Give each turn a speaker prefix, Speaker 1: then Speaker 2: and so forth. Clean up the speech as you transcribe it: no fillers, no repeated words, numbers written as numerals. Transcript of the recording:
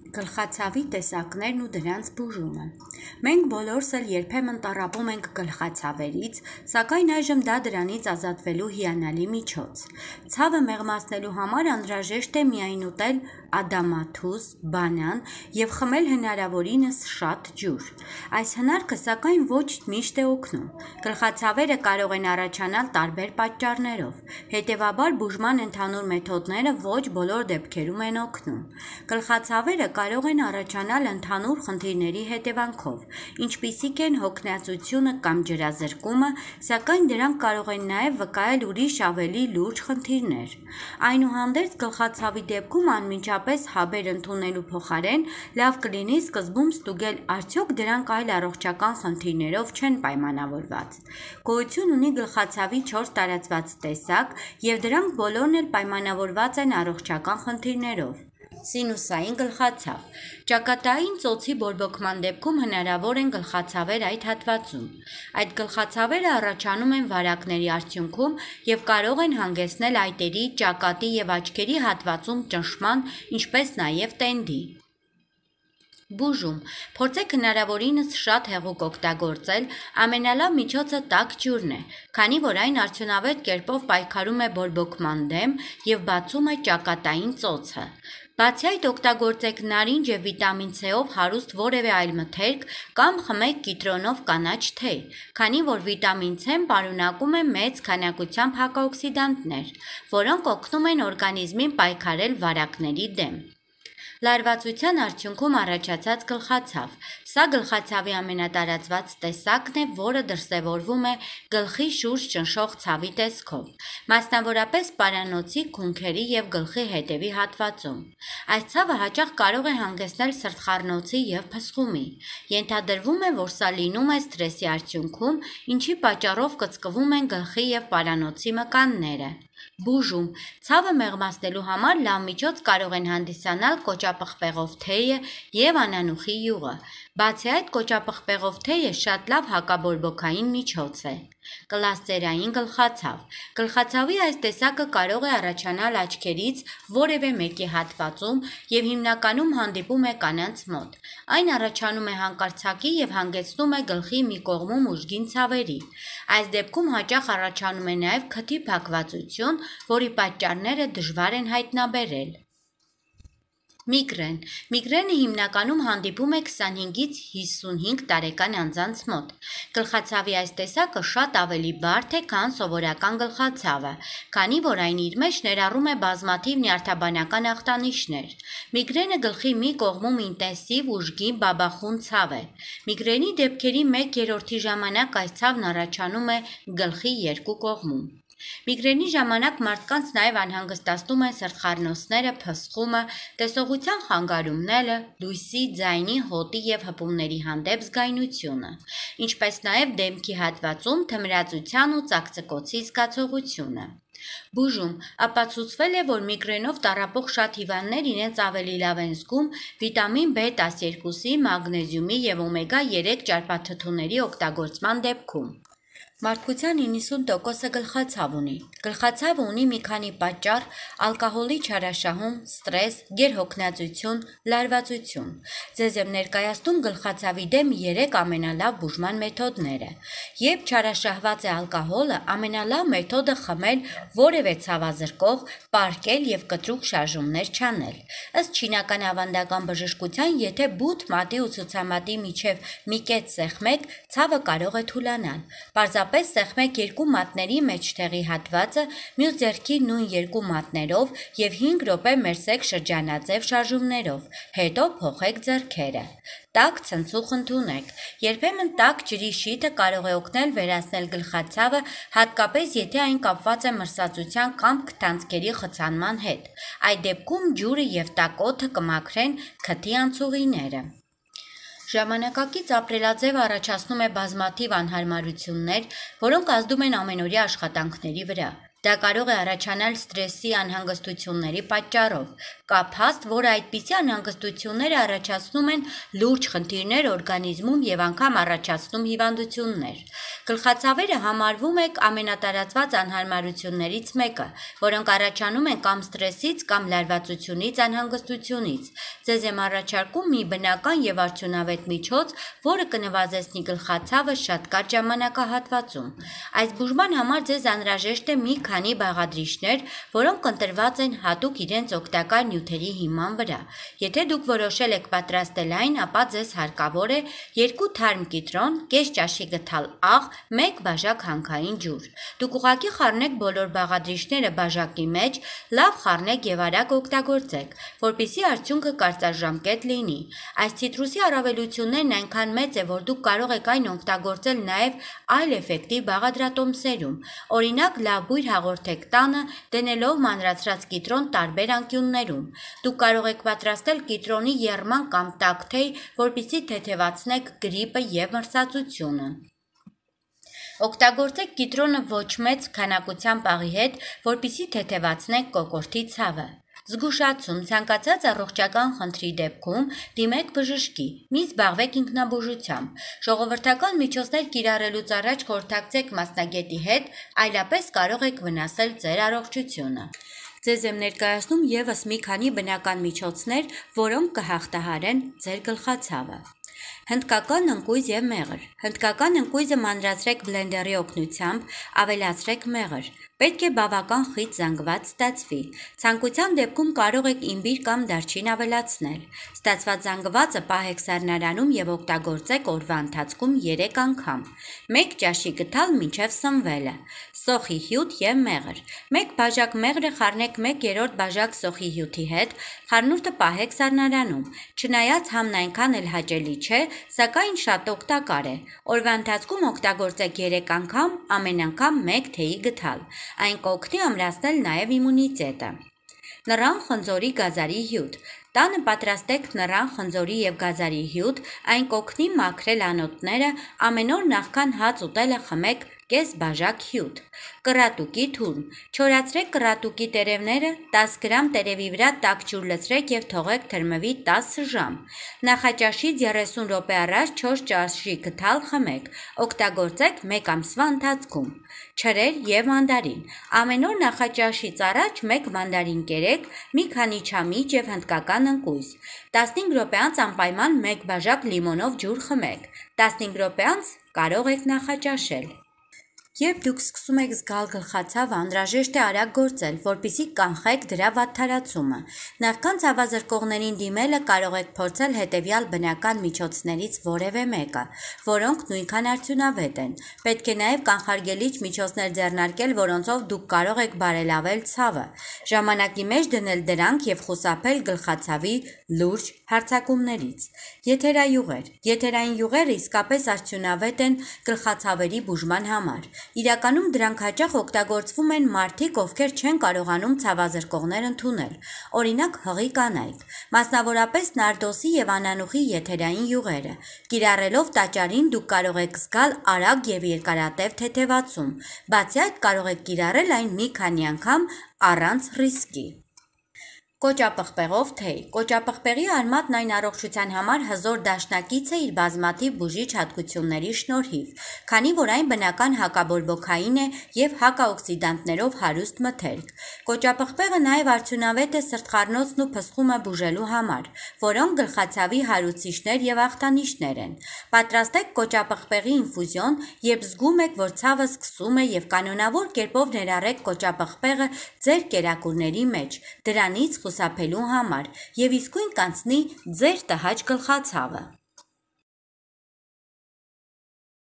Speaker 1: Գլխացավի տեսակներն ու դրանց բուժումը։ Մենք բոլորս էլ երբեմն տառապում ենք գլխացավերից, սակայն այժմ դա դրանից ազատվելու հիանալի միջոց։ Ցավը մեղմացնելու համար անհրաժեշտ է միայն ուտել ադամաթուզ, բանան և խմել հնարավորինս շատ ջուր։ Այս հնարքը սակայն ոչ միշտ է օգնում։ Գլխացավերը կարող են առաջանալ տարբեր պատճառներով, հետևաբար բուժման ընդհանուր մեթոդները ոչ բոլոր դեպքերում են օգնում։ Գլխացավերը կարող են առաջանալ ընդհանուր խնդիրների հետևանքով, ինչպիսիք են հոգնածությունը կամ ջրազրկումը, սակայն դրանք կարող են նաև վկայել ուրիշ ավելի լուրջ խնդիրներ։ Այնուհանդերձ գլխացավի դեպքում անմիջապես հաբեր ընդունելու փոխարեն լավ կլինի սկզբում ստուգել արդյոք դրանք այլ առողջական խնդիրներով չեն պայմանավորված։ Գոյություն ունի գլխացավի 4 տարածված տեսակ, և դրանք բոլորն էլ պայմանավորված են առողջական խնդիրներով։ Սինուսային գլխացավ։ Ճակատային ծոցի բորբոքման դեպքում հնարավոր են գլխացավեր այդ հատվածում։ Այդ գլխացավերը առաջանում են վարակների արդյունքում և կարող են հանգեցնել այտերի, ճակատի և աչքերի հատվածում ճնշման, ինչպես նաև տենդի։ Բուժում։ Փորձեք հնարավորինս շատ հեղուկ օգտագործել, ամենալավ միջոցը տաք ջուրն է, քանի որ այն արդյունավետ կերպով պայքարում է բորբոքման դեմ և բացում է ճակատային ծոցը։ Բացի այդ, օգտագործեք նարինջ և վիտամին C-ով հարուստ որևէ այլ մթերք կամ խմեք կիտրոնով կանաչ թեյ, քանի որ վիտամին C-ն պարունակում է մեծ քանակությամբ հակաօքսիդանտներ, որոնք օգնում են օրգանիզմին պայքարել վարակների դեմ։ Լարվածության արդյունքում առաջացած գլխացավ։ Սա գլխացավի ամենատարածված տեսակն է, որը դրսևորվում է գլխի շուրջ ճնշող ցավի տեսքով, մասնավորապես պարանոցի, քունքերի և գլխի հետևի հատվածում։ Այս ցավը հաճախ կարող է հանգեցնել սրտխառնոցի և փսխումի։ Ենթադրվում է, որ սա լինում է սթրեսի արդյունքում, ինչի պատճառով կծկվում են գլխի և պարանոցի մկանները։ Բուժում։ Ցավը մեղմացնելու համար լավ միջոց կարող են հանդիսանալ կոճապղպեղով թեյը և անանուխի յուղը։ Բացի այդ, կոճապղպեղով թեյը շատ լավ հակաբորբոքային միջոց է։ Կլաստերային գլխացավ։ Գլխացավի այս տեսակը կարող է առաջանալ աչքերից որևէ մեկի հատվածում և հիմնականում հանդիպում է կանանց մոտ։ Այն առաջանում է հանկարծակի և հանգեցնում է գլխի մի կողմում ուժգին ցավերի։ Այս դեպքում հաճախ առաջանում է նաև քթի փակվածություն, որի պատճառները դժվար են հայտնաբերել։ Միգրեն։ Միգրենը հիմնականում հանդիպում է 25-ից 55 տարեկան անձանց մոտ։ Գլխացավի այս տեսակը շատ ավելի բարդ է, քան սովորական գլխացավը, քանի որ այն իր մեջ ներառում է բազմաթիվ նյարդաբանական ախտանիշներ։ Միգրենը գլխի մի կողմում ինտենսիվ, ուժգին, բաբախուն ցավ է։ Միգրենի դեպքերի 1/3-ի ժամանակ այս ցավն առաջանում է գլխի երկու կողմում։ Միգրենի ժամանակ մարդկանց նաև անհանգստացնում են սրտխառնոցները, փսխումը, տեսողության խանգարումները, լույսի, ձայնի, հոտի և հպումների հանդեպ զգայունությունը, ինչպես նաև դեմքի հատվածում թմրածության ու ծակծկոցի զգացողությունը։ Բուժում։ Ապացուցվել է, որ միգրենով տառապող շատ հիվանդներ իրենց ավելի լավ են զգում վիտամին B12-ի, մագնեզիումի և օմեգա 3 ճարպաթթուների օգտագործման դեպքում։ Մարդկության 90%-ը գլխացավ ունի։ Գլխացավը ունի մի քանի պատճառ՝ ալկոհոլի չարաշահում, սթրես, գերհոգնածություն, լարվածություն։ Ձեզ եմ ներկայացնում գլխացավի դեմ 3 ամենալավ բուժման մեթոդները։ Երբ չարաշահված է ալկոհոլը, ամենալավ մեթոդը խմել որևէ ցավազրկող, պառկել և կտրուկ շարժումներ չանել։ Ըստ չինական ավանդական բժշկության, եթե բութ մատի ու ցուցամատի միջև մի կետ սեղմեք, ցավը կարող է թուլանալ։ Պարզապես սեղմեք երկու մատների մեջտեղի հատվածը, մյուս ձեռքի նույն երկու մատներով և 5 րոպե մերսեք շրջանաձև շարժումներով, հետո փոխեք ձեռքերը։ Տաք ցնցուղ ընդունեք։ Երբեմն տաք ջրի շիթը կարող է օգնել վերացնել գլխացավը, հատկապես եթե այն կապված է մրսածության կամ քթանցքերի խցանման հետ։ Այդ դեպքում ջուրը և տաք օդը կմաքրեն քթի անցուղիները։ Ժամանակակից ապրելաձևը առաջացնում է բազմաթիվ անհարմարություններ, որոնք ազդում են ամենօրյա աշխատանքների վրա։ Դա կարող է առաջանալ ստրեսի անհանգստությունների պատճառով։ Կա փաստ, որը այդպիսի անհանգստությունները առաջացնում են լուրջ խնդիրներ օրգանիզմում եւ անգամ առաջացնում հիվանդություններ։ Գլխացավերը համարվում է ամենատարածված անհարմարություններից մեկը, որոնք առաջանում են կամ ստրեսից, կամ լարվածությունից, անհանգստությունից։ Ձեզ եմ առաջարկում մի բնական եւ արդյունավետ միջոց, որը կնվազեցնի գլխացավը շատ կարճ ժամանակահատվածում։ Այս բուժման համար ձեզ անհրաժեշտ է մի քանի բաղադրիչներ, որոնք ընտրված են հատուկ իրենց օգտակար նյութերի հիման վրա։ Եթե դուք որոշել եք պատրաստել այն, ապա ձեզ հարկավոր է 2 թարմ կիտրոն, կես ճաշի գթալ աղ, 1 բաժակ հանքային ջուր։ Դուք ուղղակի խառնեք բոլոր բաղադրիչները բաժակի մեջ, լավ խառնեք եւ արագ օգտագործեք, որպեսզի արդյունքը կարծաժամկետ լինի։ Այս ցիտրուսի առավելություններն այնքան մեծ է, որ դուք կարող եք այն օգտագործել նաեւ այլ էֆեկտիվ բաղադրատոմսերում։ Օրինակ, լավ բույր հաղորդեք տանը, դնելով մանրացրած կիտրոն տարբեր անկյուններում։ Դուք կարող եք պատրաստել կիտրոնի եռման կամ տաք թեյ, որպեսզի թեթևացնեք գրիպը եւ մրսածությունը։ Օգտագործեք կիտրոնը ոչ մեծ քանակությամբ աղի հետ, որպեսզի թեթևացնեք կոկորդի ցավը։ Զգուշացում ցանկացած առողջական խնդրի դեպքում դիմեք բժշկի, մի զբաղվեք ինքնաբուժությամբ։ Ժողովրդական միջոցներ կիրառելուց առաջ խորհրդակցեք մասնագետի հետ, այլապես կարող եք վնասել ձեր առողջությունը։ Ձեզ եմ ներկայացնում եւս մի քանի բնական միջոցներ, որոնք կհաղթահարեն ձեր գլխացավը։ Հնդկական ընկույզ եւ մեղր։ Հնդկական ընկույզը մանրացրեք բլենդերի օգնությամբ, ավելացրեք մեղր։ Պետք է բավական խիտ զանգված ստացվի։ Ցանկության դեպքում կարող եք իմբիր կամ դարչին ավելացնել։ Ստացված զանգվածը պահեք սառնարանում եւ օգտագործեք օրվա ընթացքում 3 անգամ։ 1 ճաշի գթալ մինչև սնվելը։ Սոխի հյութ եւ մեղր։ 1 բաժակ մեղրը խառնեք 1/3 բաժակ սոխի հյութի հետ, խառնուրդը պահեք սառնարանում։ Չնայած համն այնքան էլ հաճելի չէ, սակայն շատ օգտակար է։ Օրվա ընթացքում օգտագործեք 3 անգամ, ամեն անգամ 1 թեյի գթալ։ Այն կօգնի ամրացնել նաև իմունիտետը։ Նռան խնձորի գազարի հյութ։ Տանը պատրաստեք նռան խնձորի եւ գազարի հյութ, այն կօգնի մաքրել անոթները, ամեն օր նախքան հաց ուտելը խմեք կես բաժակ հյութ։ Կռատուկի թուրմ։ Չորացրեք կռատուկի տերևները, 10 գրամ տերևի վրա տաք ջուր լցրեք եւ թողեք թրմվի 10 ժամ։ Նախաճաշից 30 րոպե առաջ 4 ճաշի գթալ խմեք։ Օգտագործեք 1 ամսվա ընթացքում։ Չրեր եւ մանդարին։ Ամեն օր նախաճաշից առաջ 1 մանդարին կերեք, մի քանի չամիչ եւ հնդկական ընկույզ։ 15 րոպե անց անպայման 1 բաժակ լիմոնով ջուր խմեք։ 15 րոպե անց կարող եք նախաճաշել։ Երբ դուք սկսում եք զգալ գլխացավը, անհրաժեշտ է արագ գործել, որպեսզի կանխեք դրա վատթարացումը։ Նախքան ցավազրկողներին դիմելը կարող եք փորձել հետևյալ բնական միջոցներից որևէ մեկը, որոնք նույնքան արդյունավետ են։ Պետք է նաև կանխարգելիչ միջոցներ ձեռնարկել, որոնցով դուք կարող եք բարելավել ցավը։ Ժամանակի մեջ դնել դրանք եւ խուսափել գլխացավի լուրջ հարձակումներից։ Եթերայուղեր։ Եթերային յուղերը իսկապես արդյունավետ են գլխացավերի բուժման համար։ Իրականում դրանք հաճախ օգտագործվում են մարդիկ, ովքեր չեն կարողանում ցավազրկողներ ընդունել, օրինակ հղի կանայք, մասնավորապես նարդոսի եւ անանուխի եթերային յուղերը։ Կիրառելով տաճարին դուք կարող եք զգալ արագ եւ երկարատև թեթևացում, բացի այդ կարող եք կիրառել այն մի քանի անգամ առանց ռիսկի։ Կոճապղպեղով թեյ։ Կոճապղպեղի արմատն այն առողջության համար հզոր դաշնակից է իր բազմաթիվ բուժիչ հատկությունների շնորհիվ, քանի որ այն բնական հակաբորբոքային է եւ հակաօքսիդանտներով հարուստ մթերք։ Կոճապղպեղը նաեւ արդյունավետ է սրտխառնոցն ու փսխումը բուժելու համար, որոնք գլխացավի հարուցիչներ եւ ախտանիշներ են։ Պատրաստեք կոճապղպեղի ինֆուզիոն, երբ զգում եք, որ ցավը սկսում է եւ կանոնավոր կերպով ներառեք կոճապղպեղը ձեր կերակուրների մեջ։ Դրանից խուսափելու համար եւ իսկույն կանցնի ձեր տհաճ գլխացավը։